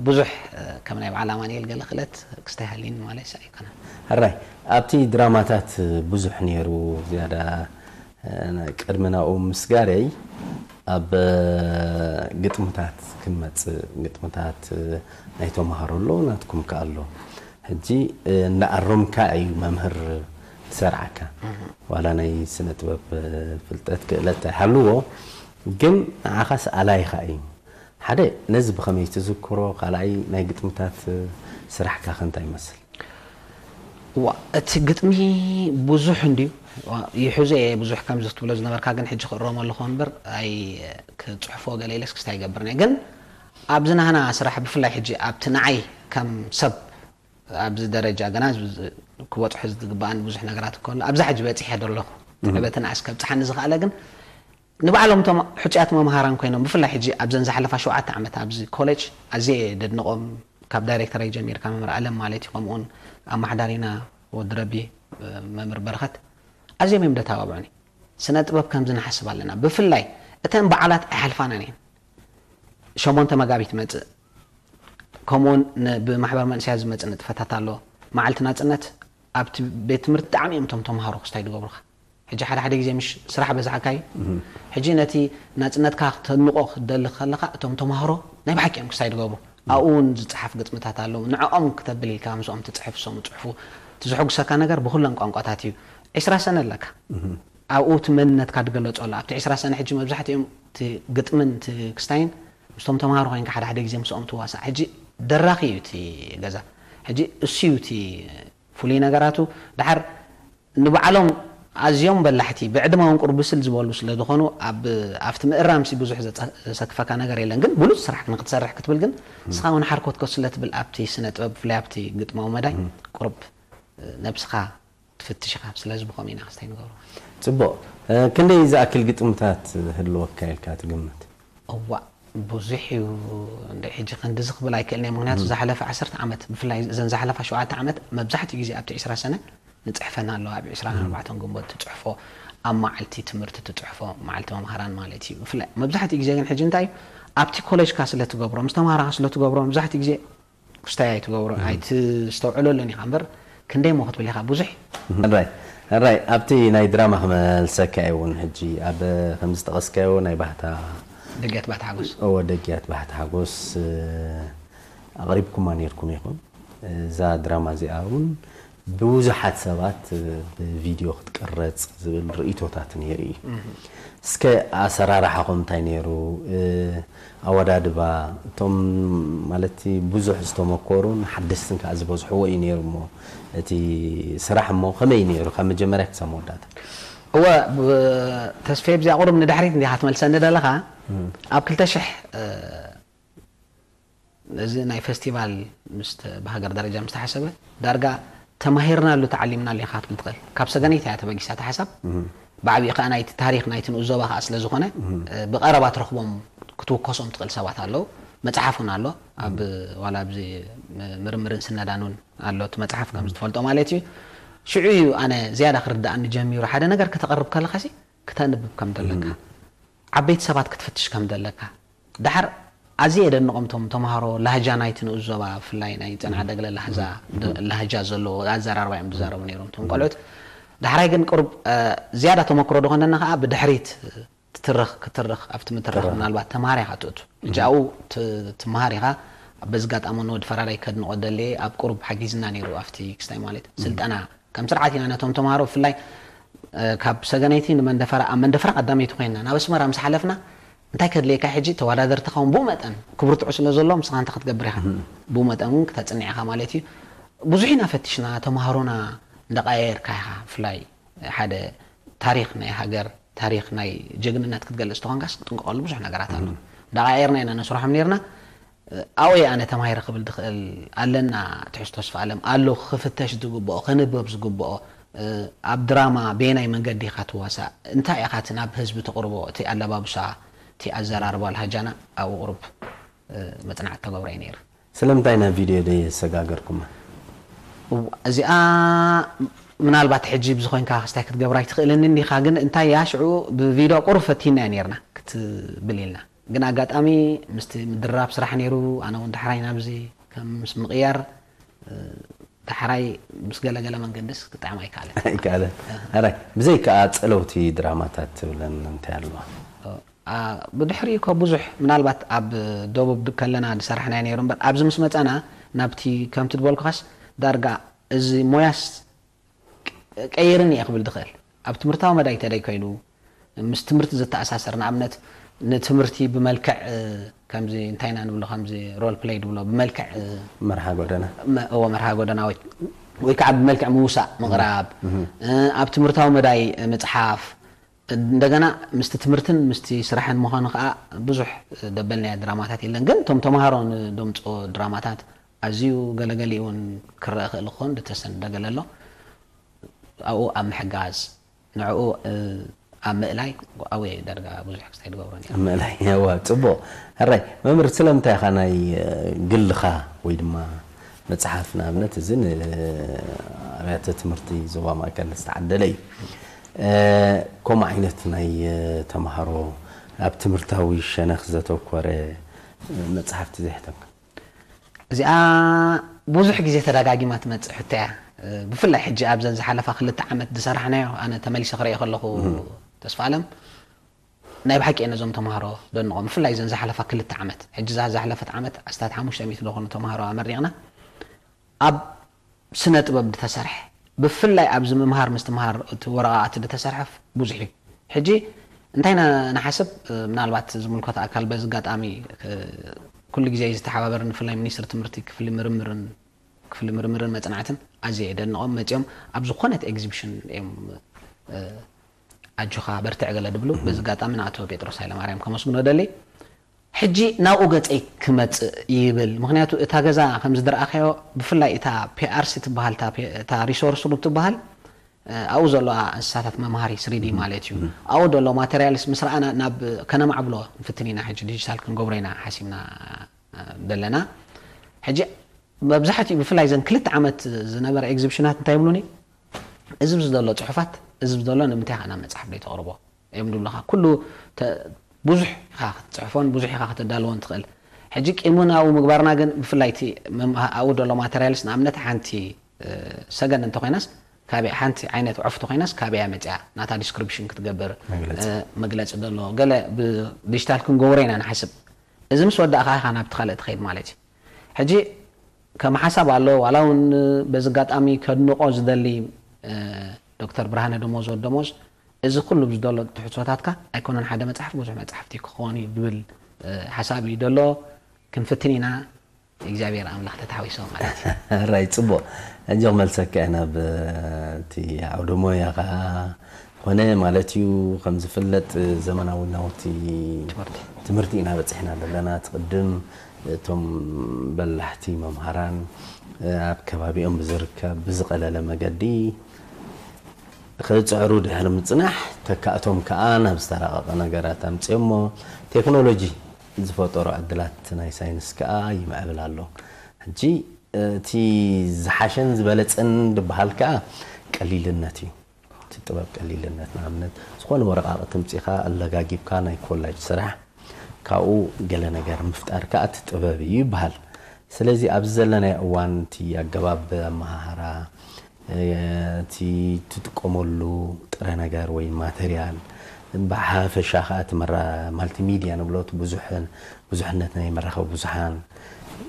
ብዙሕ ከም ናይ በዓል ኣማንኤል ገለ ክእለት ክስታይ ሃልይኒ ማለት ኣይኮነን። ሕራይ ኣብቲ ድራማታት ብዙሕ ነይሩ ዝያዳ ቅድሚ ናብኡ ምስጋረይ ኣብ ግጥምታት ክንመፅእ ግጥምታት ናይ ተምሃሮ ኣሎ ናትኩም ከ ኣሎ ሕጂ እናኣረምካ እዩ መምህር ዝሰርዓካ ዋላ ናይ ስነ ጥበብ ፍልጠት ክእለት ኣይሃልዎ ግን ንዓኻስ ኣላይኻ እዩ ሓደ ነዚ ብኸመይ ትዝክሮ ካልኣይ ናይ ግጥምታት ስራሕካ ከ እንታይ ይመስል ዋ እቲ ግጥሚ ብዙሕ እንድዩ ይሕዞ እየ ብዙሕ ከምዚ ክትብሎ ዝነበርካ ግን ሕጂ ክእረሞ ኣለኹ እምበር ኣይ ክፅሕፎ ገለ ኢለስ ክስታ ይገብር እየ ግን ኣብዚ ናህና ስራሕ ብፍላይ ሕጂ ኣብቲ ንዓይ ከም ሰብ ኣብዚ ደረጃ ገና ክበፅሑ ዝግበኣኒ ብዙሕ ነገራት እኮ ኣሎ ኣብዛ ሕጂ በፂሐ ዶ ኣለኹ ዕበትን ኣስ ከብፅሓኒ ዝኽኣለ ግን ንባዕሎም እቶም ሕፁያት መምሃራን ኮይኖም ብፍላይ ሕጂ ኣብዘን ዝሓለፋ ሸውዓተ ዓመት ኣብዚ ኮሌጅ ኣዝየ ደድንቆም ካብ ዳይሬክተረይ ጀሚርካ መምህር ኣለም ማለት እዩ ከምኡውን ኣማሓዳሪና ወዲ ረቢ መምህር በረኸት ኣዝዮም እዮም ደተባብዑኒ ስነ ጥበብ ከምዚ ንሓስብ ኣለና ብፍላይ እተን በዓላት ኣይሓልፋናን እየን ሸሞንተ መጋቢት መፅእ ከምኡውን ብማሕበር መንእሰያት ዝመፅእ ንጥፈታት ኣሎ መዓልቲ ናፅነት ኣብቲ ቤት ትምህርቲ ብጣዕሚ እዮም እቶም ተምሃሮ ክስታይ ዝገብሩኻ ሕጂ ሓደ ሓደ ግዜ ምሽ ስራሕ በዝሓካ እዩ ሕጂ ነቲ ናፅነትካ ክተንቆ ክትደሊ ከለካ እቶም ተምሃሮ ናይ ብሓቂ እዮም ክስታይ ዝገብሩ ኣብኡ እውን ዝፀሓፍ ግጥምታት ኣለዉ ንዕኦም ክተብል ኢልካ ምስኦም ትፅሕፍ እሶም ፅሕፉ እቲ ዝሕጉሰካ ነገር ብኩለን ቋንቋታት እዩ ዕስራ ሰነ ኣለካ ኣብኡ እቲ መንነትካ ትገለፆ ኣሎ ኣብቲ ዕስራ ሰነ ሕጂ መብዛሕትኦም እቲ ግጥምን እቲ ክስታይን ምስቶም ተምሃሮ ኮይንካ ሓደ ሓደ ግዜ ምስኦም ትዋሳእ ሕጂ ደራኺ እዩ እቲ ገዛ ሕጂ እሱ እዩ እቲ ፍሉይ ነገራቱ ደሓር ንባዕሎም ኣዝዮም በላሕቲ ብዕድመ እውን ቁሩብ ብስል ዝበሉ ስለ ዝኾኑ ኣብቲ ምእራምሲ ብዙሕ ዘሰክፈካ ነገር የለን ግን ብሉፅ ስራሕ ንክትሰርሕ ክትብል ግን ንስኻ እውን ሓርኮትኮት ስለ ትብል ኣብቲ ስነ ጥበብ ብፍላይ ኣብቲ ግጥማዊ መዳይ ቁሩብ ነብስኻ ትፍትሽ ኢኻ ስለዚ ብኸምኡ ኢና ክስታይ ንገብሮ ፅቡቕ ክንደይ ዝኣክል ግጥምታት ህልወካ ኢልካ ትግምት እዋእ ብዙሕ እዩ እንደ ሕጂ ክንድዚ ክብል ኣይክእልን እየ ምክንያቱ ዝሓለፈ ዓሰርተ ዓመት ብፍላይ እዘን ዝሓለፋ ሸውዓተ ዓመት መብዛሕትኡ ግዜ ኣብቲ ዕስራ ሰነ ንፅሕፈን ኣለዋ ኣብ ዕስራን ኣርባዕተን ግንቦት ትፅሕፎ ኣብ መዓልቲ ትምህርቲ ትፅሕፎ መዓልቲ መምሃራን ማለት እዩ ብፍላይ መብዛሕትኡ ግዜ ግን ሕጂ እንታይ እዩ ኣብቲ ኮሌጅካ ስለ ትገብሮ ምስ ተምሃራኻ ስለ ትገብሮ መብዛሕትኡ ግዜ ክስታይ ኣይትገብሮ ኣይትስተውዕለሉን ኢኻ እምበር ክንደይ ሞ ክትብል ኢኻ ብዙሕ ራይ ራይ ኣብቲ ናይ ድራማ ክመልሰካ እየ እውን ሕጂ ኣብ ከም ዝጠቐስካዮ ናይ ባህታ ደግያት ባህታ ሓጎስ እወ ደግያት ባህታ ሓጎስ ኣቕሪብኩማ ነርኩም ኢኹም እዛ ድራማ እዚኣ እውን ብዙሓት ሰባት ብቪድዮ ክትቅረጽ ዝብል ርእይቶታት ነይሩ እዩ። እስከ ኣሰራርሓኹም እንታይ ነይሩ? ኣወዳድባ እቶም ማለት ብዙሕ ዝተመኮሩን ሓደስትን ከዓ ዝበዝሕዎ እዩ ነይሩ። እሞ እቲ ስራሕ እሞ ከመይ ነይሩ ካብ መጀመርያ ክሳብ መወዳእታ? እወ፣ ተስፋ ብዚኣ ቁሩብ ንድሕሪት እንዲኻ ትመልሰኒ ዘለኻ። ኣብ ክልተ ሽሕ እዚ ናይ ፌስቲቫል ምስ ብሃገር ደረጃ ምስ ተሓሰበ ዳርጋ ተማሂርናሉ ተዓሊምናሉ ኢኻ ክትብል ትኽእል። ካብ ሰገነይቲ እያ ተበጊሳ እታ ሓሳብ። ብዓብዪ ከዓ ናይቲ ታሪክ ናይቲ ንኡስ ዞባ ከዓ ስለ ዝኾነ ብቐረባ ትረኽቦም ክትውከሶም ትኽእል ሰባት ኣለዉ። መፅሓፍ እውን ኣሎ ኣብ ዋላ ኣብዚ ምርምርን ስነዳን እውን ኣሎ እቲ መፅሓፍ ከም ዝትፈልጦ ማለት እዩ። ሽዑ እዩ ኣነ ዝያዳ ክርድኣኒ ጀሚሩ ሓደ ነገር ከተቕርብ ከለኻሲ ክተንብብ ከም ዘለካ ዓበይቲ ሰባት ክትፍትሽ ከም ዘለካ። ዳሓር ኣዝየ የደንቖም እቶም ተምሃሮ ላህጃ ናይቲ ንኡስ ዞባ ብፍላይ ናይ ጸንዓደግለ ላህዛ ላህጃ ዘለዎ ኣዘራርባ እዮም ዝዛረቡ ነይሮም እቶም ቆልዑት። ዳሕራይ ግን ቅሩብ ዝያዳ ተመክሮ ዝኾነና ከዓ ብድሕሪት ትትርኽ ክትርኽ ኣብቲ ምትራኽ ምናልባት ተማሃር ኢኻ ትእቱ። ሕጂ ኣብኡ ትመሃር ኢኻ። በዚ ጋጣሚ ንወዲ ፈራዳይ ከድንቖ ደልየ ኣብ ቅሩብ ሓጊዝና ነይሩ ኣብቲ ክስታይ ማለት ስልጠና ከም ስርዓት ኢና ነቶም ተምሃሮ ብፍላይ ካብ ሰገነይቲ ንመንደፈራ ኣብ መንደፈራ ቀዳመይቲ ኮይና ናብ ኣስመራ ምስ ሓለፍና እንታይ ከድልየካ ሕጂ ተወዳደርቲ ኸውን ብኡ መጠን ክብርትዑ ስለ ዘሎ ምስኻ እንታይ ክትገብር ኢኻ ብኡ መጠን እውን ክተፅንዕ ኢኻ ማለት እዩ። ብዙሕ ኢና ፈቲሽና ተምሃሮና እንዳቀያየርካ ኢኻ ብፍላይ ሓደ ታሪክ ናይ ሃገር ታሪክ ናይ ጀግንነት ክትገልፅ ተኾንካስ ክትጥንቀቀሉ ብዙሕ ነገራት ኣሎ። እንዳቀያየርና ኢና ነስርሖም ነርና። ኣወይ ኣነ ተማሂረ ክብል ዝኽእል ኣለና ትሕዝቶ ተስፋ ኣለም ኣሎ ክፍተሽ ዝግብኦ ክንበብ ዝግብኦ ኣብ ድራማ በየናይ መንገዲ ኢኻ ትዋሳእ እንታይ ኢኻ እቲ ናብ ህዝቢ ተቕርቦ እቲ ኣለባብሳ እቲ ኣዘራርባ ልሃጃና ኣብኡ ቁሩብ መፅናዕቲ ተገብረ እዩ ነይሩ። ስለምንታይ ናብ ቪድዮ ደየሰጋገርኩማ? እዚኣ ምናልባት ሕጂ ብዝኾንካ ክስታይ ክትገብራ ኣይትኽእልን እንዲኻ ግን እንታይ እያ ሽዑ ብቪድዮ ቁሩብ ፈቲና እያ ነርና ክትብል ኢልና ግን ኣጋጣሚ ምስቲ ምድራብ ስራሕ ነይሩ ኣነ እውን ዳሕራይ ናብዚ ከም ምስ ምቕያር ዳሕራይ ምስ ገለገለ መንገድስ ክጥዕም ኣይከኣለን ኣይከኣለን። ሕራይ ብዘይከኣ ፀለውቲ ድራማታት ትብለን እንታይ ኣለዋ? ብድሕሪኡ እኮ ብዙሕ ምናልባት ኣብ ደቡብ ከለና ዝሰራሕናዮ ነይሩ እምበር ኣብዚ ምስ መፃና ናብቲ ከምቲ ዝበልኩኻስ ዳርጋ እዚ ሞያስ ቀይርን እየ ክብል ዝኽእል ኣብ ትምህርታዊ መዳይ ተደይ ኮይኑ ምስ ትምህርቲ ዝተኣሳሰር ንኣብነት ንትምህርቲ ብመልክዕ ከምዚ እንታይ ኢና ንብሎ ከምዚ ሮል ፕለይ ድብሎ ብመልክዕ መርሃ ጎደና እዎ መርሃ ጎደና ወይ ወይ ከዓ ብመልክዕ ምውሳእ ምቕራብ ኣብ ትምህርታዊ መዳይ ምፅሓፍ እንደገና ምስቲ ትምህርትን ምስቲ ስራሕን ምዃኑ ከዓ ብዙሕ ደበልናዮ ድራማታት የለን ግን እቶም ተምሃሮ ንደምፅኦ ድራማታት ኣዝዩ ገለገሊኡ እውን ክረአ ክእል ክኾን ዝተሰነደ ገለ ኣሎ ኣብኡ ኣብ ምሕጋዝ ንዕኡ ኣብ ምእላይ ኣወ ዳርጋ ብዙሕ ክስታይ ድገብሮ ነይሩ ምእላይ ያዋ ፅቡቅ ሕራይ መምህር ስለምንታይ ኢኻ ናይ ግልኻ ወይ ድማ መፅሓፍ ንኣብነት እዚ ንኣብያተ ትምህርቲ ዞባ ማእከል ዝተዓደለ እዩ። ከምኡ ዓይነት ናይ ተምሃሮ ኣብ ትምህርታዊ ሸነኽ ዘተኮረ መፅሓፍቲ ዘሕተምካ? እዚኣ ብዙሕ ግዜ ተደጋጊማ ትመፅእ ሕቶ እያ። ብፍላይ ሕጂ ኣብዘን ዝሓለፋ ክልተ ዓመት ዝሰራሕናዮ ኣነ ተመሊሰ ክርእዮ ከለኹ ተስፋ ኣለም ናይ ብሓቂ እየ ነዞም ተምሃሮ ደንቖም ብፍላይ ዘን ዝሓለፋ ክልተ ዓመት ሕጂ ዛ ዝሓለፈት ዓመት ኣስታት ሓሙሽተ ሚእቲ ዝኾኑ ተምሃሮ ኣመሪቕና ኣብ ስነ ጥበብ ዝተሰርሐ ብፍላይ ኣብዚ ምምሃር ምስትምሃር እቲ ወረቓቕቲ ዝተሰርሐ ብዙሕ እዩ። ሕጂ እንታይ ንሓስብ ምናልባት ዝምልከቶ ኣካል በዚ ኣጋጣሚ ኩሉ ግዜ ዝተሓባበርን ብፍላይ ሚኒስትሪ ትምህርቲ ክፍሊ ምርምርን ክፍሊ ምርምርን መፅናዕትን ኣዝየ የደንቖም መፂኦም ኣብ ዝኾነት ኤግዚቢሽን እዮም ኣጆኻ በርትዕ ገለ ድብሉ በዚ ኣጋጣሚ ንኣቶ ጴጥሮስ ሃይለማርያም ከመስግኖ ደሊ ሕጂ ናብኡ ገፀይ ክመፅእ ይብል ምክንያቱ እታ ገዛ ከምዚ ዝረኣኸዮ ብፍላይ እታ ፒኣርሲ ትበሃል እታ ሪሶርስ ሩም ትበሃል ኣብኡ ዘለዋ እንስሳታት መምሃሪ ስሪዲ ማለት እዩ ኣብኡ ዘሎ ማቴሪያልስ ምስ ረኣና ናብ ከነማዕብሎ ንፍትን ኢና ሕጂ ዲጂታል ክንገብሮ ኢና ሓሲብና ዘለና ሕጂ መብዛሕትኡ ብፍላይ ዘን ክልተ ዓመት ዝነበረ ኤግዚቢሽናት እንታይ ይብሉኒ እዚ ዘሎ ፅሑፋት እዚ ዘሎ ንምንታይ ከ ናብ መፅሓፍ ደይ ተቕርቦ እዮም ዝብሉኻ ኩሉ ብዙሕ ኢኻ ክትፅሕፎን ብዙሕ ኢኻ ከተዳልዎን ትኽእል ሕጂ ቂሙናዊ ምግባርና ግን ብፍላይ እቲ ኣብኡ ዘሎ ማተርያልስ ንኣብነት ሓንቲ ሰገን እንተኮይናስ ካበይ ሓንቲ ዓይነት ዕፍ ተኮይናስ ካበያ መፅያ ናታ ዲስክሪፕሽን ክትገብር መግለፂ ዘሎ ገለ ብዲጂታል ክንገብሮ ኢና ንሓስብ እዚ ምስ ወዳእካ ኢኻ ናብቲ ካልእ ትኸይድ ማለት እዩ ሕጂ ከም ሓሳብ ኣሎ። ዋላ እውን በዚ ኣጋጣሚ ከድንቆ ዝደሊ ዶክተር ብርሃነ ደሞዝ ወደሞዝ፣ እዚ ኩሉ ዝደሎ ትሕዝቶታትካ ኣይኮነን ሓደ መፅሓፍ፣ ብዙሕ መፅሓፍቲ ክኸውን እዩ ዝብል ሓሳብ እዩ ደሎ። ክንፍትን ኢና። እግዚኣብሔር ኣምላኽ ተታሓዊሶ ማለት እዩ። ራይ፣ ፅቡቕ። እንጆ ክመልሰካ ኢና ብቲ ዓውደ ሞያ ከዓ ኮነ ማለት እዩ። ከም ዝፍለጥ ዘመናዊ ናውቲ ትምህርቲ ኢና በፂሕና ዘለና። ትቅድም እቶም በላሕቲ መምሃራን ኣብ ከባቢኦም ብዝርከብ ብዝቀለለ መገዲ ክፅዕሩ ድሕሪ ምፅናሕ፣ ተካእቶም ከዓ ናብ ዝተራቀቀ ነገራት ኣምፅኦሞ። ቴክኖሎጂ ዝፈጠሮ ዕድላት ናይ ሳይንስ ከዓ ይምዕብል ኣሎ። ሕጂ እቲ ዝሓሸን ዝበለፀን ዝበሃል ከዓ ቀሊልነት እዩ። እቲ ጥበብ ቀሊልነት፣ ንኣብነት ዝኾነ ወረቃቅቲ ምፂኻ ኣለጋጊብካ ናይ ኮላጅ ስራሕ ካብኡ ገለ ነገር ምፍጣር ከዓ እቲ ጥበብ እዩ ይበሃል። ስለዚ ኣብዚ ዘለናዮ እዋን እቲ ኣገባብ ኣመሃህራ፣ እቲ ትጥቀመሉ ጥረ ነገር ወይ ማተርያል፣ ብሓፈሻ ከዓ እቲ መራ ማልቲሚድያ ንብሎ እቲ ብዙሕን ብዙሕነት ናይ መራኸቢ ብዙሓን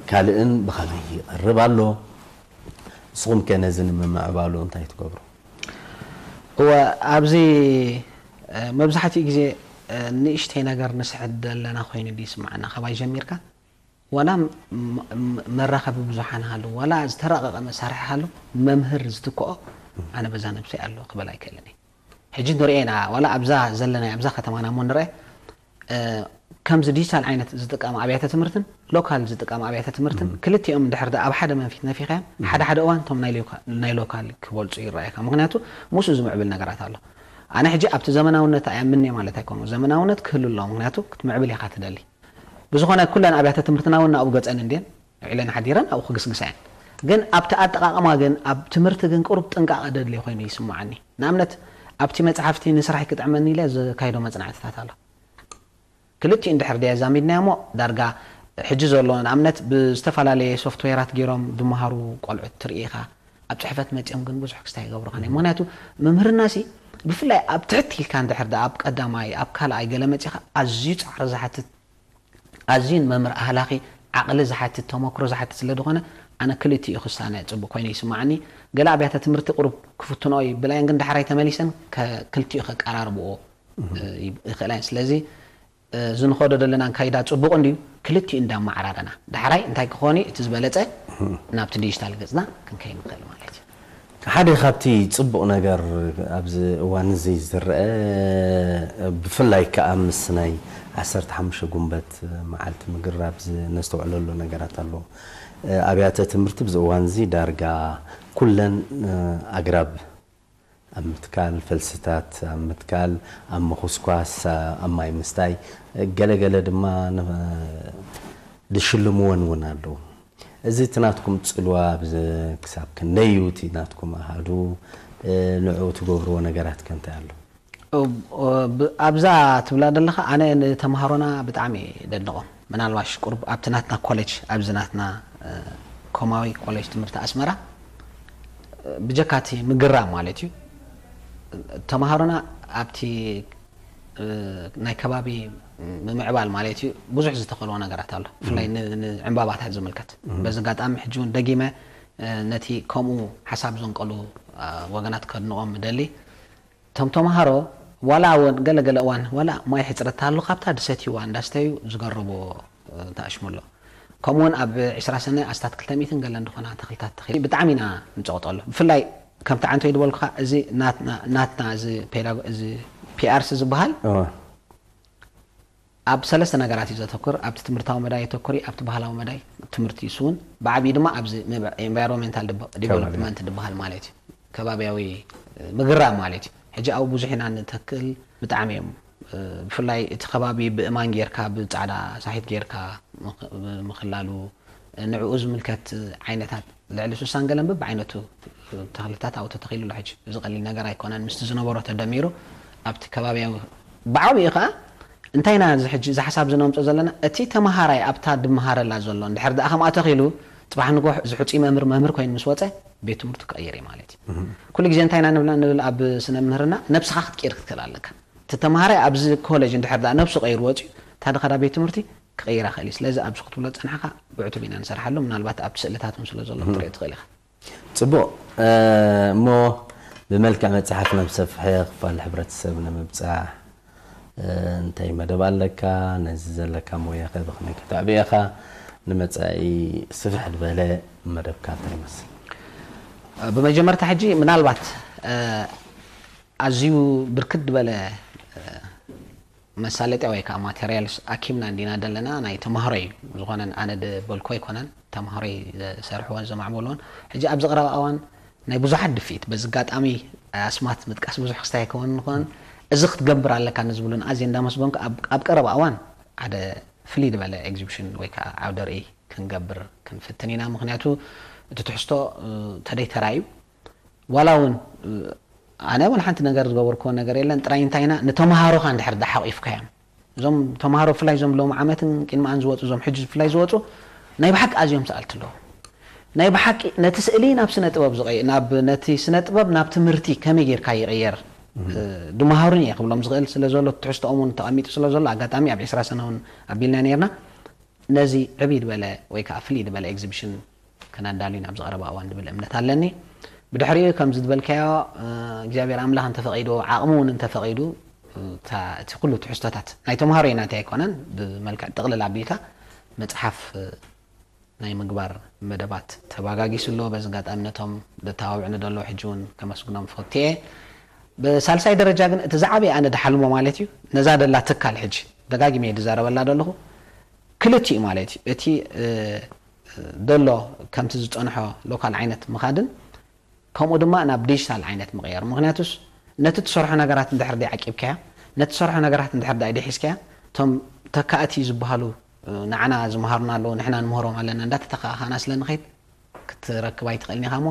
ካልእን ብኸመይ ይቐርብ ኣሎ? ንስኹም ከ ነዚ ንምምዕባሉ እንታይ ትገብሩ? እወ፣ ኣብዚ መብዛሕትኡ ግዜ ንእሽተይ ነገር ንስሕት ዘለና ኮይኑ ይስምዓና። ካባይ ጀሚርካ ዋላ መራኸቢ ብዙሓን ሃሉ ዋላ ዝተራቐቐ መሳርሒ ሃሉ፣ መምህር ዝትክኦ ኣነ በዛ ነብሰይ ኣሎ ክበል ኣይክእልን እየ። ሕጂ ንሪኦ ኢና ዋላ ኣብዛ ዘለና ኣብዛ ከተማና እሞ ንርአ ከምዚ ዲጂታል ዓይነት ዝጥቀማ ኣብያተ ትምህርትን ሎካል ዝጥቀማ ኣብያተ ትምህርትን ክልቲኦም እንድሕር ደኣ ኣብ ሓደ መንፊት ነፊኻዮም ሓደ ሓደ እዋን እቶም ናይ ሎካ- ናይ ሎካል ክበልፁ ይረኣየካ። ምክንያቱ ምስኡ ዝምዕብል ነገራት ኣሎ። ኣነ ሕጂ ኣብቲ ዘመናውነት ኣየምንየ ማለት ኣይኮኑ። ዘመናውነት ክህሉ ኣለዎ። ምክንያቱ ክትምዕብል ኢኻ ትደሊ። ብዝኾነ ኩለን ኣብያተ ትምህርትና እውን ናብኡ ገፀን እንድየን ውዒለን ሓዲረን ኣብኡ ክግስግሳ እየን። ግን ኣብቲ ኣጠቃቅማ ግን ኣብ ትምህርቲ ግን ቅሩብ ጥንቃቐ ደድልዮ ኮይኑ ይስምዓኒ። ንኣብነት ኣብቲ መፅሓፍቲ ንስራሕ ክጥዕመኒ ኢለ ዘካይዶ መፅናዕትታት ኣሎ። ክልቲኡ እንድሕር ደየ ኣዛሚድናዮ እሞ ዳርጋ ሕጂ ዘሎ ንኣብነት ብዝተፈላለየ ሶፍትዌራት ገይሮም ዝመሃሩ ቆልዑት ትርኢ ኢኻ። ኣብ ፅሕፈት መፂኦም ግን ብዙሕ ክስታይ ይገብሩኻ ናይ ምክንያቱ መምህርና ሲ ብፍላይ ኣብ ትሕት ኢልካ እንድሕር ደኣ ኣብ ቀዳማይ ኣብ ካልኣይ ገለ መፂኻ ኣዝዩ ፃዕሪ ዝሓትት ኣዝዩን መምህር ኣህላኺ ዓቕሊ ዝሓትት ተመክሮ ዝሓትት ስለ ዝኾነ ኣነ ክልቲኡ ክሳነ ፅቡቅ ኮይኑ ይስማዓኒ። ገለ ኣብያተ ትምህርቲ ቁሩብ ክፍትንኦ ይብላየን ግን ዳሕራይ ተመሊሰን ክልቲኡ ከቀራርብኦ ይኽእላ እየን። ስለዚ እዚ ንኸዶ ዘለና ኣካይዳ ፅቡቕ እንድዩ ክልቲኡ እንዳማዓራረና ዳሕራይ እንታይ ክኾን እዩ እቲ ዝበለፀ ናብቲ ዲጂታል ገፅና ክንከይድ ንኽእል ማለት እዩ። ሓደ ካብቲ ፅቡቕ ነገር ኣብዚ እዋን እዚ ዝረአ ብፍላይ ከዓ ምስ ናይ ዓሰርተ ሓሙሽተ ጉንበት መዓልቲ ምግራብ ነስተውዕለሉ ነገራት ኣሎ። ኣብያተ ትምህርቲ ብዚ እዋን እዚ ዳርጋ ኩለን ኣግራብ ኣብ ምትካል ፈልስታት ኣብ ምትካል ኣብ ምኹስኳስ ኣብ ማይ ምስታይ ገለገለ ድማ ዝሽልምወን እውን ኣለዉ። እዚ እቲ ናትኩም ፅልዋ ክሳብ ክንደይ እዩ እቲ ናትኩም ኣሃዱ ንዕኡ ትገብርዎ ነገራት ከ እንታይ ኣሎ? ኣብዛ ትብላ ዘለኻ ኣነ ንተምሃሮና ብጣዕሚ ደድንቖም። ምናልባሽ ቁሩብ ኣብቲ ናትና ኮሌጅ ኣብዚ ናትና ኮማዊ ኮሌጅ ትምህርቲ ኣስመራ ብጀካ እቲ ምግራም ማለት እዩ ተምሃሮና ኣብቲ ናይ ከባቢ ምምዕባል ማለት እዩ ብዙሕ ዝተኸልዎ ነገራት ኣሎ። ብፍላይ ንዕምባባታት ዝምልከት በዚ ኣጋጣሚ ሕጂ እውን ደጊመ ነቲ ከምኡ ሓሳብ ዘንቀሉ ወገናት ከድንቖም ምደሊ። እቶም ተምሃሮ ዋላ እውን ገለገለ እዋን ዋላ ማይ ሕፅረት ተሃሉ ካብታ ዝሰትይዋ እንዳስተዩ ዝገርቦ ተኣሽሙ ኣሎ። ከምኡውን ኣብ ዕስራ ሰነ ኣስታት ክልተ ሚእትን ገለን ዝኾና ተኽልታት ተኺሉ ብጣዕሚ ኢና ንፀቕጠሉ። ብፍላይ ከምቲ ዓንተይ ዝበልኩኻ እዚ ናትና እዚ ፒኣርሲ ዝበሃል ኣብ ሰለስተ ነገራት እዩ ዘተኩር። ኣብቲ ትምህርታዊ መዳይ የተኩር እዩ፣ ኣብቲ ባህላዊ መዳይ ትምህርቲ ይስውን፣ ብዓብዩ ድማ ኣብዚ ኤንቫይሮንሜንታል ዲቨሎፕመንት ዝበሃል ማለት እዩ ከባቢያዊ ምግራም ማለት እዩ። ሕጂ ኣብኡ ብዙሕ ኢና ንተክል፣ ብጣዕሚ እዮም ብፍላይ እቲ ከባቢ ብእማን ጌርካ ብፃዕዳ ሳሒት ጌርካ ምኽላሉ ንዕኡ ዝምልከት ዓይነታት ልዕሊ ሱሳን ገለን በብዓይነቱ ተኽልታት ኣብኡ ተተኺሉ ኣሎ። ሕጂ እዚ ቀሊል ነገር ኣይኮነን። ምስቲ ዝነበሮ ተደሚሩ ኣብቲ ከባቢያዊ ብዓብኡ ከዓ እንታይ ኢና እዚ ሕጂ እዚ ሓሳብ ዝነምፆ ዘለና እቲ ተምሃራይ ኣብታ ድመሃረላ ዘሎ እንድሕር ደኣ ከምኣ ተኺሉ ፅባሕ ንጎሕ እዚ ሕፁይ መምህር መምህር ኮይኑ ምስ ወፀ ቤት ትምህርቱ ክቕይር እዩ ማለት እዩ። ኩሉ ግዜ እንታይ ኢና ንብል ኣብ ስነ ምህርና ነብስኻ ክትቅይር ክትክእል ኣለካ። እቲ ተምሃራይ ኣብዚ ኮሌጅ እንድሕር ደኣ ነብሱ ቀይሩ ወፅዩ እታ ድኸዳ ቤት ትምህርቲ ክቕይራ ክእል እዩ። ስለዚ ኣብዚ ክትብሎ ዝጸናሕካ ብዕቱብ ኢና ንሰርሓሉ። ምናልባት ኣብቲ ስእልታት እውን ስለ ዘሎ ክትሪኦ ትኽእል ኢኻ። ጽቡቕ። እሞ ብመልክዕ መጽሓፍ ናብ ሰፍሐ ክፋል ሕብረተሰብ ንምብጻሕ እንታይ መደብ ኣለካ? ነዚ ዘለካ ሞያ ከ ብኸመይ ከተዕብዮ ኢኻ? ንመጻኢ ስፍሕ ዝበለ መደብካ እንታይ ይመስል? ብመጀመርታ ሕጂ ምናልባት ኣዝዩ ብርክት ዝበለ መሳለጥያ ወይ ከዓ ማቴሪያልስ ኣኪብና እንዲና ዘለና ናይ ተማሃሮ እዩ ዝኾነን ኣነ ዝበልኮ ኣይኮነን ተማሃሮ ዝሰርሕዎን ዘማዕበልዎን ሕጂ ኣብዚ ቀረባ እዋን ናይ ብዙሓት ድፍኢት በዚ ኣጋጣሚ ኣስማት ምጥቃስ ብዙሕ ክስታይ ኣይከውን ንኾን እዚ ክትገብር ኣለካ ንዝብሉን ኣዝየ እንዳመስገንኩ ኣብ ቀረባ እዋን ሓደ ፍልይ ዝበለ ኤግዚቢሽን ወይ ከዓ ዓውደ ርእይ ክንገብር ክንፍትን ኢና ምክንያቱ እቲ ትሕዝቶ ተደይተራ እዩ ዋላ እውን ኣነ ወላ ሓንቲ ነገር ዝገበርክዎ ነገር የለን ጥራይ እንታይ ኢና ንተምሃሮኻ እንድሕር ዳሓቂፍካዮም እዞም ተምሃሮ ብፍላይ እዞም ሎም ዓመትን ቅድሚ ኣን ዝወፁ እዞም ሕጂ ብፍላይ ዝወፁ ናይ ብሓቂ ኣዝዮም ሰኣልቲ ኣለዉ ናይ ብሓቂ ነቲ ስእሊ ናብ ስነ ጥበብ ዝቀይ ናብ ነቲ ስነ ጥበብ ናብ ትምህርቲ ከመይ ጌርካ ይቀየር ድመሃሩን እየ ክብሎም ዝኽእል ስለ ዘሎ ትሕዝቶኦም እውን ተቐሚጡ ስለ ዘሎ ኣጋጣሚ ኣብ ዕስራ ሰነ እውን ኣቢልና ነርና ነዚ ዕብይ ዝበለ ወይ ከዓ ፍልይ ዝበለ ኤግዚቢሽን ከነዳሉ ናብ ዝቐረበ እዋን ዝብል እምነት ኣለኒ። ብድሕሪኡ ከምዚ ዝበልካዮ እግዚኣብሔር ኣምላኽ እንተፈቒዱ ዓቕሚ እውን እንተፈቒዱ እቲ ኩሉ ትሕዝቶታት ናይ ተምሃሮ ናተይ ኣይኮነን ብመልክዕ ጥቕልል ኣቢልካ መፅሓፍ ናይ ምግባር መደባት ተባጋጊሱ ኣሎ። በዚ ኣጋጣሚ ነቶም ዘተባብዕኒ ዘለዉ ሕጂ እውን ከመስግኖም ፈትየ። ብሳልሳይ ደረጃ ግን እቲ ዝዓበየ ኣነ ድሓልሞ ማለት እዩ ነዛ ደላ ትካል ሕጂ ደጋጊመ እየ ዝዛረበላ ዘለኹ ክልቲኡ ማለት እዩ እቲ ዘሎ ከምቲ ዝፀንሖ ሎካል ዓይነት ምኻድን ከምኡ ድማ ናብ ዲጂታል ዓይነት ምቕያር ምክንያቱስ ነቲ ትሰርሖ ነገራት እንድሕር ዳይ ዓቂብካያ ነቲ ትሰርሖ ነገራት እንድሕር ዳይ ዲሒዝካያ እቶም ተካእቲ ዝበሃሉ ንዓና ዝመሃሩና ኣለዉ ንሕና ንምህሮም ኣለና እንዳተተካእካና ስለ ንኸይድ ክትረክብ ኣይትኽእልን ኢኻ እሞ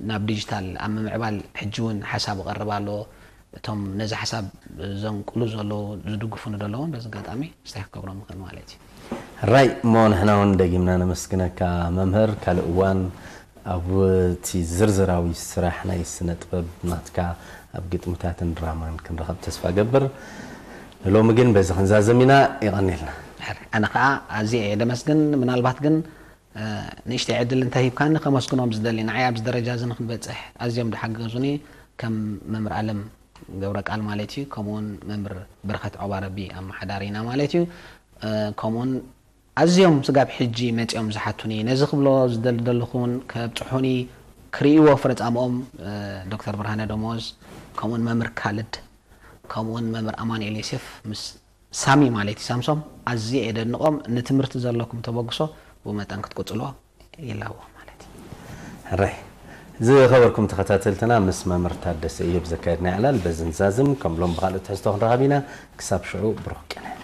ናብ ዲጂታል ኣብ ምምዕባል ሕጂ እውን ሓሳብ ይቐርብ ኣሎ እቶም ነዚ ሓሳብ ዘንቅሉ ዘለዉ ዝድግፉኒ ዘለዉ በዚ ኣጋጣሚ ስታይ ክገብሮም ይኽእል ማለት እዩ ራይ እሞ ንሕና እውን ደጊምና ነመስግነካ መምህር ካልእ እዋን ኣብ እቲ ዝርዝራዊ ስራሕ ናይ ስነ ጥበብ ናትካ ኣብ ግጥምታትን ድራማን ክንረኸብ ተስፋ ገብር ንሎሚ ግን በዚ ክንዛዘም ኢና ይቐኒልና ኣነ ከዓ ኣዝየ እየ ደመስግን ምናልባት ግን ንእሽተይ ዕድል እንተሂብካኒ ከመስግኖም ዝደሊ ንዓይ ኣብዚ ደረጃ እዚ ንክንበፅሕ ኣዝዮም ዝሓገዙኒ ከም መምህር ኣለም ገብረ ቃል ማለት እዩ ከምኡውን መምህር በረኸት ዖባረቢ ኣመሓዳሪና ማለት እዩ ከምኡውን ኣዝዮም ስጋብ ሕጂ መፂኦም ዝሓቱኒ ነዚ ክብሎ ዝደሊ ዘለኹ እውን ከብፅሑኒ ክርእይዎ ፍረፃምኦም ዶክተር ብርሃነ ደሞዝ ከምኡውን መምህር ካልድ ከምኡውን መምህር ኣማኑኤል ዮሴፍ ምስ ሳሚ ማለት እዩ ሳምሶም ኣዝየ እየ ደድንቆም ንትምህርቲ ዘለኩም ተበግሶ ብመጠን ክትቅፅልዎ ይላዎ ማለት እዩ ሕራይ ዝኸበርኩም ተኸታተልትና ምስ መምህር ታደሰ እዮብ ዘካየድና ዕላል በዚ ንዛዝም ከም ሎም ብኻልእ ትሕዝቶ ክንረኸብ ኢና ክሳብ ሽዑ ብሩኽ ቅነ